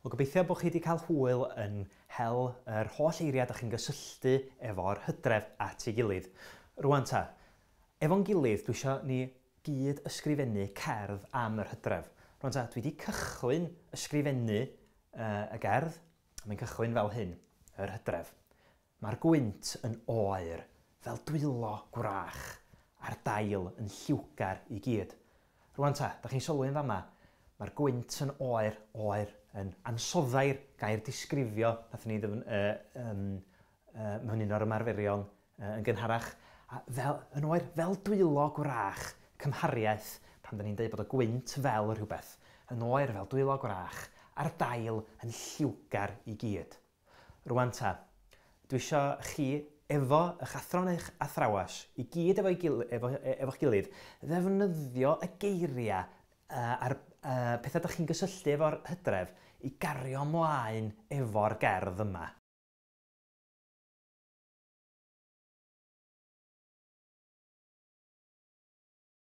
Wel, gobeithio bod chi wedi cael hwyl yn hel yr holl eiriau da chi'n gysylltu efo'r hydref at ei gilydd. Rwan ta, efo'n gilydd dwi eisiau ni gyd ysgrifennu cerdd am yr hydref. Rwan ta, dwi wedi cychwyn ysgrifennu y gerdd, mae'n cychwyn fel hyn, yr hydref. Mae'r gwynt yn oer, fel dwylo gwrach, a'r dail yn lliwgar i gyd. Rwan ta, da chi'n sylwi yn fama, mae'r gwynt yn oer, oer, yn ansoddair, gair disgrifio, nathon ni ddefn, uh, um, mewn un o'r ymarferion yn gynharach, a fel, yn oer, fel dwylo gwrach, cymhariaeth, pan da ni'n dweud bod y gwynt fel rhywbeth, yn oer fel dwylo gwrach, a'r dail yn lliwgar i gyd. Rwan ta, dwi isio chi efo eich athro neu'ch athrawes, i gyd efo'i gil, efo, e, efo'ch gilydd, ddefnyddio y geiriau a'r pethau dych chi'n gysylltu efo'r hydref i gario ymlaen efo'r gerdd yma.